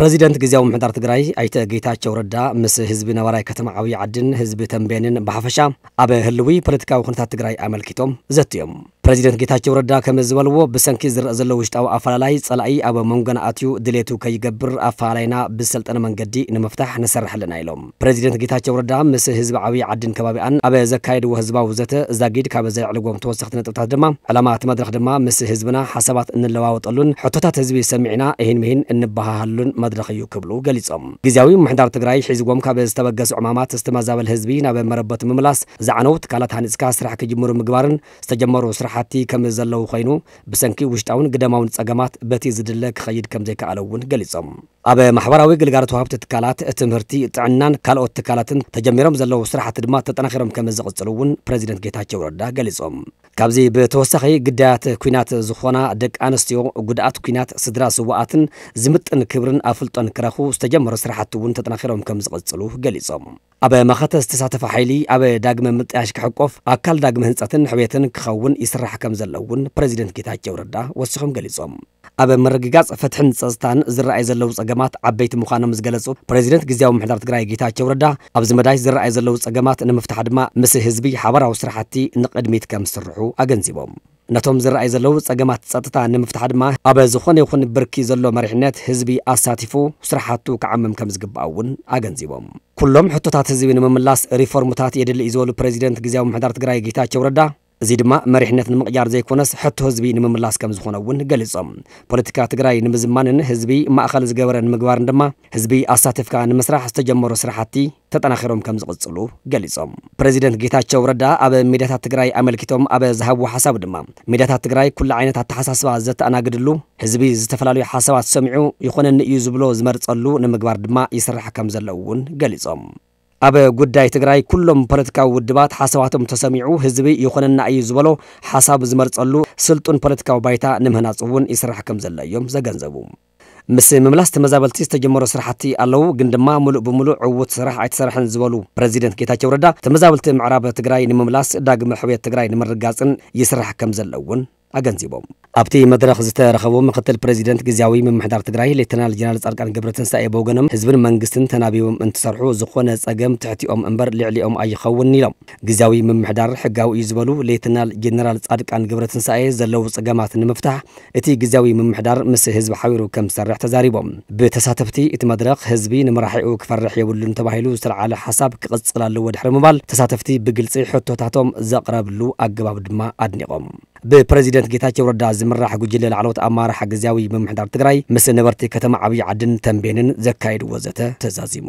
ፕረዚደንት ግዝያዊ ምምሕዳር ትግራይ ኣይተ ጌታቸው ረዳ ምስ ህዝቢ ነባራይ ከተማ ዓብዪ ዓድን ህዝቢ ተንቤንን ብሓፈሻ ኣብ ህልዊ ፖለቲካዊ ኩነታት ትግራይ ኣመልኪቶም ዘትዮም። ፕረዚደንት ጌታቸው ረዳ ከም ዝበልዎ፣ ብሰንኪ ዝረአ ዘሎ ውሽጣዊ ኣፈላላይ ጸላኢ ኣብ መንጎና ኣትዩ ድሌቱ ከይገብር ኣፈላላይና ብሰልጠነ መንገዲ ንምፍታሕ ንሰርሕ ኣለና ኢሎም። ፕረዚደንት ጌታቸው ረዳ ምስ ህዝቢ ዓብዪ ዓድን ከባቢኣን ኣብ ዘካየድዎ ህዝባዊ ዘተ ዛጊድ ካብ ዘዕልዎም ተወሰኽቲ ነጥብታት ድማ፣ ዕላማ እቲ መድረኽ ድማ ምስ ህዝብና ሓሳባት እንለዋወጠሉን ሕቶታት ህዝቢ ሰሚዕና እሂን ምሂን እንበሃሃሉን መድረኽ እዩ ክብሉ ገሊጾም። ግዝያዊ ምምሕዳር ትግራይ ሒዝዎም ካብ ዝተበገሱ ዕማማት ዝተመዛበለ ህዝቢ ናብ መረበቱ ምምላስ፣ ዝዓነው ትካላት ሃኒጽካ ስራሕ ክጅምሩ ምግባርን ዝተጀመሩ ስራሕቲ ከም ዘለዉ ኮይኑ፣ ብሰንኪ ውሽጣውን ግደማውን ጸገማት በቲ ዝድለ ክኸይድ ከም ዘይከኣለ እውን ገሊጾም። ኣብ ማሕበራዊ ግልጋሎት ወሃብቲ ትካላት ትምህርቲ፣ ጥዕናን ካልኦት ትካላትን ተጀሚሮም ዘለዉ ስራሕቲ ድማ ተጠናኺሮም ከም ዝቕጽሉ እውን ፕረዚደንት ጌታቸው ረዳ ገሊጾም። ካብዚ ብተወሳኺ፣ ግዳያት ኲናት ዝኾና ደቂ ኣንስትዮ፣ ጉድኣት ኲናት፣ ስድራ ስዋኣትን ዝምጥን ክብርን ኣፍልጦን ክረኽቡ ዝተጀመሩ ስራሕቲ እውን ተጠናኺሮም ከም ዝቕጽሉ ገሊጾም። ኣብ መኸተ ዝተሳተፈ ሓይሊ ኣብ ዳግመ ምጥያሽ ክሕቆፍ፣ ኣካል ዳግመ ህንጸትን ሕውየትን ክኸውን ይስራሕ ከም ዘሎ እውን ፕረዚደንት ጌታቸው ረዳ ወሲኾም ገሊጾም። ኣብ ምርግጋጽ ፍትሕን ጸጥታን ዝረኣዩ ዘለዉ ጸገማት ዓበይቲ ምዃኖም ዝገለጹ ፕረዚደንት ግዝያዊ ምምሕዳር ትግራይ ጌታቸው ረዳ፣ ኣብዚ መዳይ ዝረኣዩ ዘለዉ ጸገማት ንምፍታሕ ድማ ምስ ህዝቢ ሓባራዊ ስራሕቲ ንቕድሚት ከም ዝስርሑ ኣገንዚቦም። ነቶም ዝረኣዩ ዘለዉ ጸገማት ጸጥታ ንምፍታሕ ድማ ኣብ ዝኾነ ይኹን ብርኪ ዘሎ መሪሕነት ህዝቢ ኣሳቲፉ ስራሕቱ ክዓምም ከም ዝግባእ እውን ኣገንዚቦም። ኩሎም ሕቶታት ህዝቢ ንምምላስ ሪፎርምታት የድሊ እዩ ዝበሉ ፕረዚደንት ግዝያዊ ምምሕዳር ትግራይ ጌታቸው ረዳ፣ እዚ ድማ መሪሕነት ንምቕያር ዘይኮነስ ሕቶ ህዝቢ ንምምላስ ከም ዝኾነ እውን ገሊጾም። ፖለቲካ ትግራይ ንምዝማንን ህዝቢ ማእኸል ዝገበረ ንምግባርን ድማ ህዝቢ ኣሳቲፍካ ንምስራሕ ዝተጀመሩ ስራሕቲ ተጠናኺሮም ከም ዝቕጽሉ ገሊጾም። ፕረዚደንት ጌታቸው ረዳ ኣብ ሚድያታት ትግራይ ኣመልኪቶም ኣብ ዝሃብዎ ሓሳብ ድማ፣ ሚድያታት ትግራይ ኩሉ ዓይነት ኣተሓሳስባ ዘተኣናግድሉ፣ ህዝቢ ዝተፈላለዩ ሓሳባት ሰሚዑ ይኾነኒ እዩ ዝብሎ ዝመርጸሉ ንምግባር ድማ ይስራሕ ከም ዘሎ እውን ገሊጾም። ኣብ ጉዳይ ትግራይ ኩሎም ፖለቲካዊ ውድባት ሓሳባቶም ተሰሚዑ ህዝቢ ይኾነና እዩ ዝበሎ ሓሳብ ዝመርጸሉ ስልጡን ፖለቲካዊ ባይታ ንምህናጽ እውን ይስራሕ ከም ዘሎ እዮም ዘገንዘቡ። ምስ ምምላስ ተመዛበልቲ ዝተጀመሩ ስራሕቲ ኣለዉ፣ ግን ድማ ሙሉእ ብሙሉእ ዕዉት ስራሕ ኣይተሰርሐን ዝበሉ ፕረዚደንት ጌታቸው ረዳ፣ ተመዛበልቲ ምዕራብ ትግራይ ንምምላስ፣ ዳግመ ሕውየት ትግራይ ንምርጋጽን ይስራሕ ከም ዘሎ እውን ኣገንዚቦም። ኣብቲ መድረኽ ዝተረኸቡ ምክትል ፕረዚደንት ግዝያዊ ምምሕዳር ትግራይ ሌተናል ጀነራል ጻድቃን ገብረትንሳኤ ብወገኖም፣ ህዝብን መንግስትን ተናቢቦም እንትሰርሑ ዝኾነ ጸገም ትሕቲኦም እምበር ልዕሊኦም ኣይኸውን ኢሎም። ግዝያዊ ምምሕዳር ሕጋዊ እዩ ዝበሉ ሌተናል ጀነራል ጻድቃን ገብረትንሳኤ፣ ዘለዉ ጸገማት ንምፍታሕ እቲ ግዝያዊ ምምሕዳር ምስ ህዝቢ ሓቢሩ ከም ዝሰርሕ ተዛሪቦም። ብተሳተፍቲ እቲ መድረኽ፣ ህዝቢ ንመራሒኡ ክፈርሕ የብሉን ተባሂሉ ዝተልዓለ ሓሳብ ክቕጽል ኣለዎ ድሕሪ ምባል፣ ተሳተፍቲ ብግልጺ ሕቶታቶም ዘቕረብሉ ኣገባብ ድማ ኣድኒቖም። ብፕረዚደንት ጌታቸው ረዳ ዝምራሕ ጉጅለ ላዕለዎት ኣመራርሓ ግዝያዊ ምምሕዳር ትግራይ ምስ ነበርቲ ከተማ ዓብዪ ዓድን ተንቤንን ዘካየድዎ ዘተ ተዛዚሙ።